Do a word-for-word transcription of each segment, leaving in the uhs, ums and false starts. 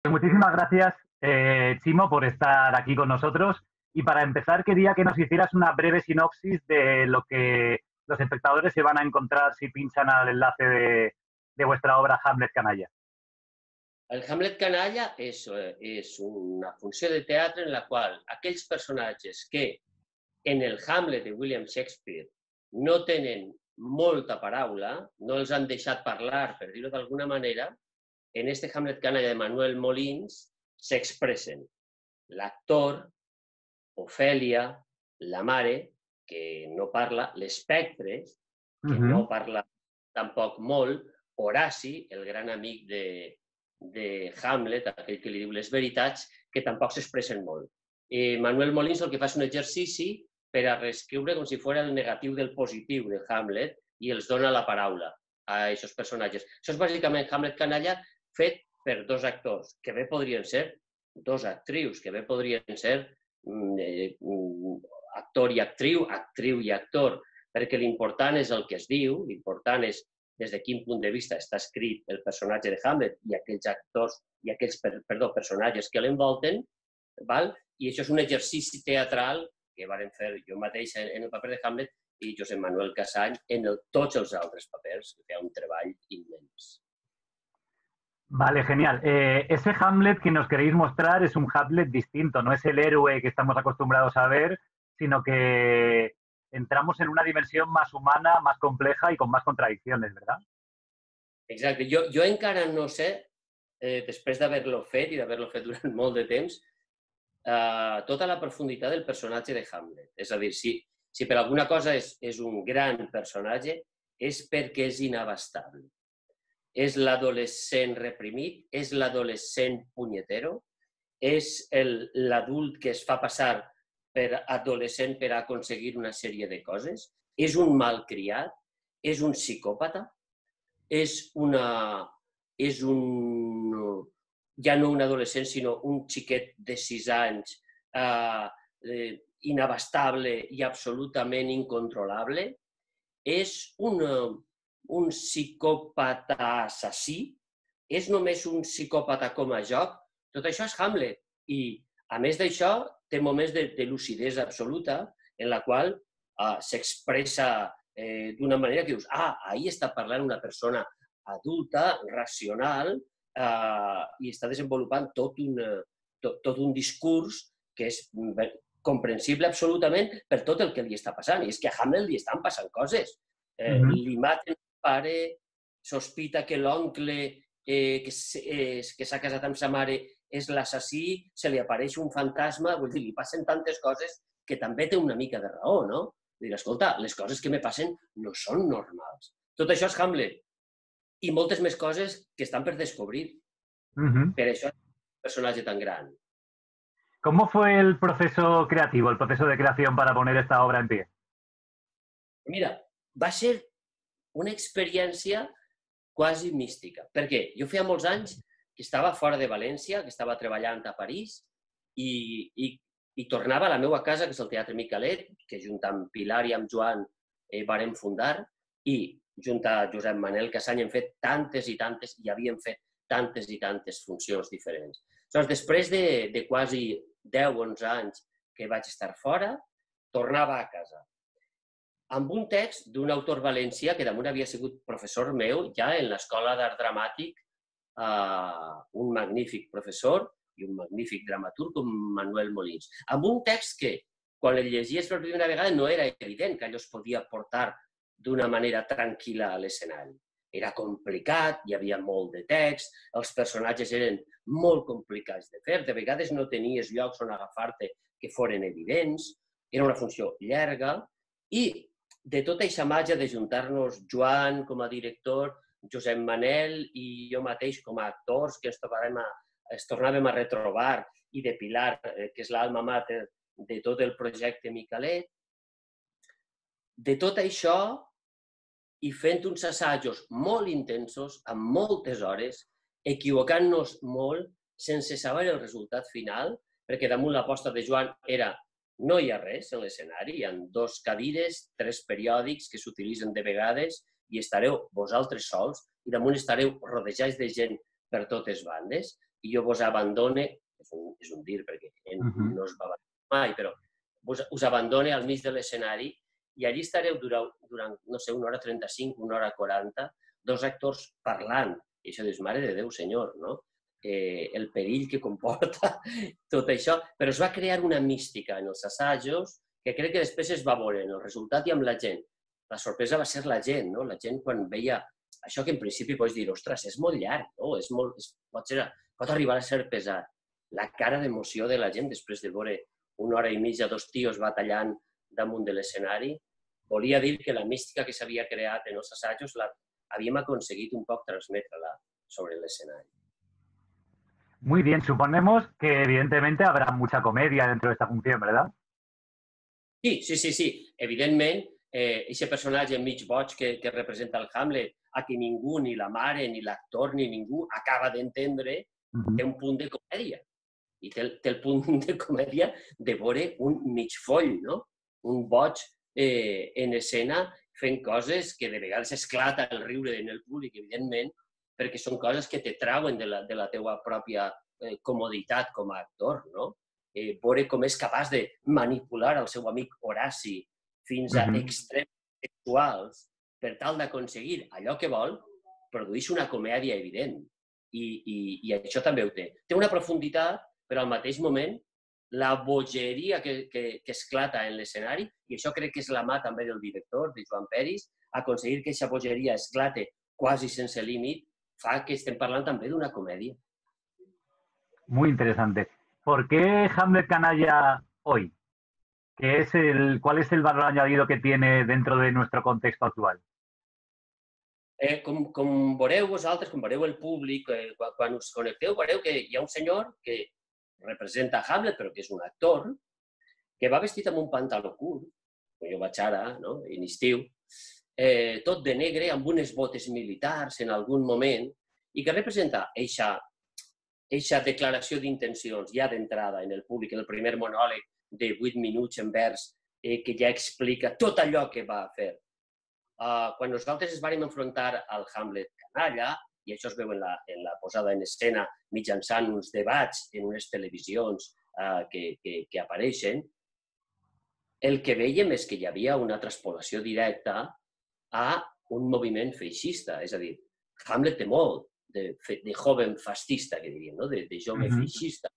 Muchísimas gracias, eh, Chimo, por estar aquí con nosotros. Y para empezar, quería que nos hicieras una breve sinopsis de lo que los espectadores se van a encontrar si pinchan al enlace de, de vuestra obra Hamlet Canalla. El Hamlet canalla és, és una funció de teatre en la qual aquells personatges que en el Hamlet de William Shakespeare no tenen molta paraula, no els han deixat parlar, per dir-ho d'alguna manera, en este Hamlet canalla de Manuel Molins s'expressen. L'actor, Ofèlia, la mare, que no parla, l'espectre, que Uh-huh. no parla tampoc molt, Horaci, el gran amic de, de Hamlet, aquell que li diu les veritats, que tampoc s'expressen molt. Eh, Manuel Molins el que fa és un exercici per a reescriure com si fos el negatiu del positiu de Hamlet i els dona la paraula a aquests personatges. Això és bàsicament Hamlet canalla fet per dos actors, que bé podrien ser dos actrius, que bé podrien ser eh, actor i actriu, actriu i actor, perquè l'important és el que es diu, l'important és des de quin punt de vista està escrit el personatge de Hamlet i aquells actors i aquells perdó, personatges que l'envolten, i això és un exercici teatral que varen fer jo mateix en el paper de Hamlet i Josep Manuel Casany en el, tots els altres papers, que feia un treball immens. Vale, genial. Eh, ese Hamlet que nos queréis mostrar es un Hamlet distinto, no es el héroe que estamos acostumbrados a ver, sino que entramos en una dimensión más humana, más compleja y con más contradicciones, ¿verdad? Exacte. Jo, jo encara no sé, eh, després d'haver-lo fet i d'haver-lo fet durant molt de temps, eh, tota la profunditat del personatge de Hamlet. És a dir, si, si per alguna cosa és, és un gran personatge, és perquè és inabastable. És l'adolescent reprimit, és l'adolescent punyetero, és l'adult que es fa passar per adolescent per aconseguir una sèrie de coses, és un malcriat, és un psicòpata, és una... és un... ja no un adolescent, sinó un xiquet de sis anys, eh, eh, inabastable i absolutament incontrolable, és un, un psicòpata assassí, és només un psicòpata com a joc, tot això és Hamlet. I, a més d'això, té moments de, de lucidesa absoluta en la qual eh, s'expressa eh, d'una manera que dius, ah, ahí està parlant una persona adulta, racional, eh, i està desenvolupant tot un, tot, tot un discurs que és comprensible absolutament per tot el que li està passant. I és que a Hamlet li estan passant coses. Eh, uh-huh. Li maten el pare, sospita que l'oncle eh, que s'ha eh, casat amb sa mare és l'assassí, se li apareix un fantasma, vull dir, li passen tantes coses que també té una mica de raó, no? Dir, escolta, les coses que me passen no són normals. Tot això és Hamlet. I moltes més coses que estan per descobrir. Uh-huh. Per això és un personatge tan gran. ¿Cómo fue el proceso creativo, el proceso de creación para poner esta obra en pie? Mira, va ser una experiència quasi mística. Per què? Jo feia molts anys que estava fora de València, que estava treballant a París i, i, i tornava a la meva casa, que és el Teatre Micalet, que junt amb Pilar i amb Joan eh, vàrem fundar, i junt a Josep Manel Casany hem fet tantes i tantes, i havíem fet tantes i tantes funcions diferents. Llavors, després de, de quasi deu o onze anys que vaig estar fora, tornava a casa amb un text d'un autor valencià que damunt havia sigut professor meu ja en l'Escola d'Art Dramàtic, eh, un magnífic professor i un magnífic dramaturg com Manuel Molins. Amb un text que, quan el llegies per primera vegada, no era evident que allò es podia portar d'una manera tranquil·la a l'escenari. Era complicat, hi havia molt de text, els personatges eren molt complicats de fer, de vegades no tenies llocs on agafar-te que foren evidents, era una funció llarga, i de tota aquesta màgia de juntar-nos Joan com a director, Josep Manel i jo mateix com a actors que ens, a, ens tornàvem a retrobar, i de Pilar, que és l'alma mater de tot el projecte Micalet, de tot això i fent uns assajos molt intensos, amb moltes hores, equivocant-nos molt, sense saber el resultat final, perquè damunt l'aposta de Joan era no hi ha res en l'escenari, hi ha dos cadires, tres periòdics que s'utilitzen de vegades i estareu vosaltres sols i damunt estareu rodejats de gent per totes bandes. i jo vos abandone, és un, és un dir perquè ell Uh-huh. no es va abandonar mai, però vos, us abandone al mig de l'escenari i allí estareu durant, durant, no sé, una hora trenta-cinc, una hora quaranta, dos actors parlant. I això dius, mare de Déu, senyor, no? Eh, el perill que comporta tot això. Però es va crear una mística en els assajos que crec que després es va veure en el resultat i amb la gent. La sorpresa va ser la gent, no? La gent quan veia això que en principi pots dir, ostres, és molt llarg, no? És molt, és, pot, ser, pot arribar a ser pesat. La cara d'emoció de la gent després de veure una hora i mitja dos tios batallant damunt de l'escenari, volia dir que la mística que s'havia creat en els assajos la havíem aconseguit un poc transmetre-la sobre el escenario. Muy bien, suponemos que evidentemente habrá mucha comedia dentro de esta función, ¿verdad? Sí, sí, sí, sí. Evidentment, eh, ese personatge mig boig que, que representa el Hamlet, a qui ningú, ni la mare, ni l'actor, ni ningú acaba d'entendre, Uh-huh. té un punt de comèdia. I té el, té el punt de comèdia de veure un mig foll, no? Un boig eh, en escena fent coses que de vegades esclata el riure en el públic, evidentment, perquè són coses que te trauen de la, de la teua pròpia eh, comoditat com a actor, no? Eh, veure com és capaç de manipular el seu amic Horaci fins a Uh-huh. extrems sexuals per tal d'aconseguir allò que vol, produeix una comèdia evident. I, i, i això també ho té. Té una profunditat, però al mateix moment la bogeria que, que, que esclata en l'escenari, i això crec que és la mà també del director, de Joan Peris, aconseguir que aquesta bogeria esclate quasi sense límit, fa que estem parlant també d'una comèdia. Muy interesante. ¿Por qué Hamlet canalla hoy? ¿Qué es el, ¿Cuál es el valor añadido que tiene dentro de nuestro contexto actual? Eh, com, com veureu vosaltres, com veureu el públic, eh, quan, quan us connecteu, veureu que hi ha un senyor que representa Hamlet, però que és un actor, que va vestit amb un pantaló curt, com jo vaig ara, no? En estiu, eh, tot de negre, amb unes botes militars en algun moment, i que representa eixa, eixa declaració d'intencions ja d'entrada en el públic, en el primer monòleg de vuit minuts en vers, eh, que ja explica tot allò que va fer. Uh, quan nosaltres ens vam enfrontar al Hamlet canalla, i això es veu en la, en la posada en escena mitjançant uns debats en unes televisions uh, que, que, que apareixen, el que veiem és que hi havia una transpolació directa a un moviment feixista. És a dir, Hamlet té molt de, de joven fascista, que diríem, no? de, de jove Uh-huh. feixista.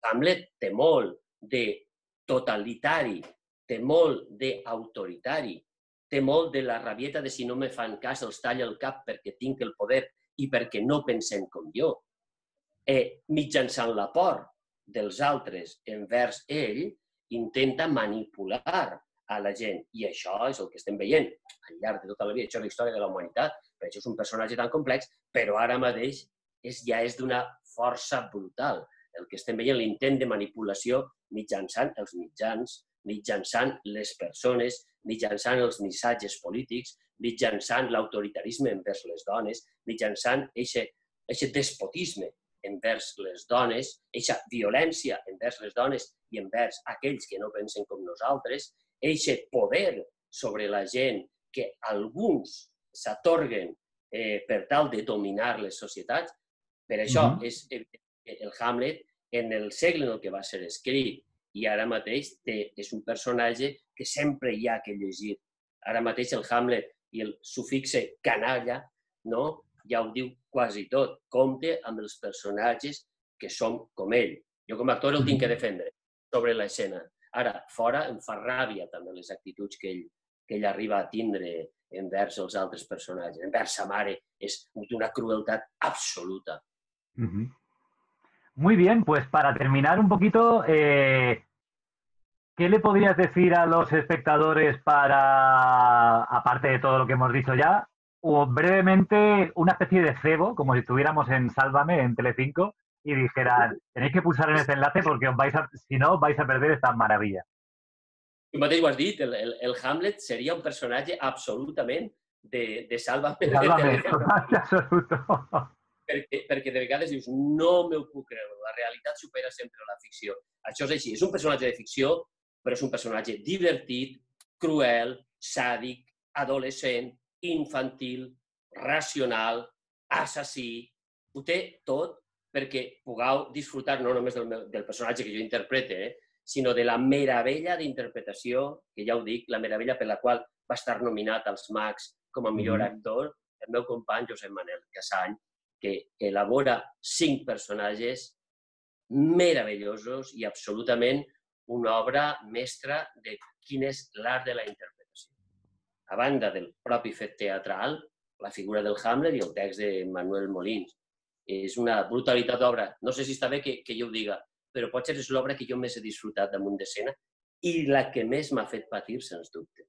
Hamlet té molt de totalitari, té molt d'autoritari, té molt de la rabieta de si no me fan cas els talla el cap perquè tinc el poder i perquè no pensen com jo. Eh, mitjançant la por dels altres envers ell, intenta manipular a la gent. I això és el que estem veient al llarg de tota la vida. Això és la història de la humanitat. Per això és un personatge tan complex, però ara mateix és, ja és d'una força brutal. El que estem veient, l'intent de manipulació mitjançant els mitjans, mitjançant les persones, mitjançant els missatges polítics, mitjançant l'autoritarisme envers les dones, mitjançant aquest despotisme envers les dones, aquesta violència envers les dones i envers aquells que no pensen com nosaltres, aquest poder sobre la gent que alguns s'atorguen eh, per tal de dominar les societats. Per això uh-huh. és el Hamlet, en el segle en el que va ser escrit, i ara mateix té, és un personatge que sempre hi ha que llegir. Ara mateix el Hamlet i el sufixe canalla, no? Ja ho diu quasi tot. Compte amb els personatges que som com ell. Jo com a actor el tinc que defendre sobre l'escena. Ara, fora em fa ràbia també les actituds que ell, que ell arriba a tindre envers els altres personatges. Envers sa mare és d'una crueltat absoluta. Uh-huh. Muy bien, pues para terminar un poquito, eh, ¿qué le podrías decir a los espectadores para, aparte de todo lo que hemos dicho ya, o brevemente una especie de cebo, como si estuviéramos en Sálvame, en Telecinco, y dijeran, tenéis que pulsar en este enlace porque os vais a, si no, vais a perder esta maravilla? Tu mateix ho has dit, el, el, el Hamlet seria un personatge absolutament de, de Sálvame. Sálvame, total, absoluto. Perquè, perquè de vegades dius, no m'ho puc creure, la realitat supera sempre la ficció. Això és així, és un personatge de ficció, però és un personatge divertit, cruel, sàdic, adolescent, infantil, racional, assassí, ho té tot, perquè pugueu disfrutar no només del, meu, del personatge que jo interprete, eh, sinó de la meravella d'interpretació, que ja ho dic, la meravella per la qual va estar nominat als Mags com a millor Mm-hmm. actor, el meu company Josep Manel Casany, que elabora cinc personatges meravellosos i absolutament una obra mestra de quin és l'art de la interpretació. A banda del propi fet teatral, la figura del Hamlet i el text de Manuel Molins. És una brutalitat d'obra. No sé si està bé que, que jo ho diga, però potser és l'obra que jo més he disfrutat damunt d'escena i la que més m'ha fet patir, sens dubte.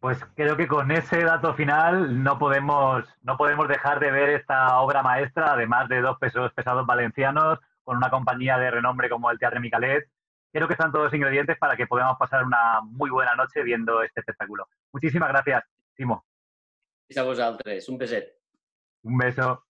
Pues creo que con ese dato final no podemos, no podemos dejar de ver esta obra maestra, además de dos pesos pesados valencianos, con una compañía de renombre como el Teatre Micalet. Creo que están todos los ingredientes para que podamos pasar una muy buena noche viendo este espectáculo. Muchísimas gracias, Timo. Fins a vosaltres. Un beset. Un beso.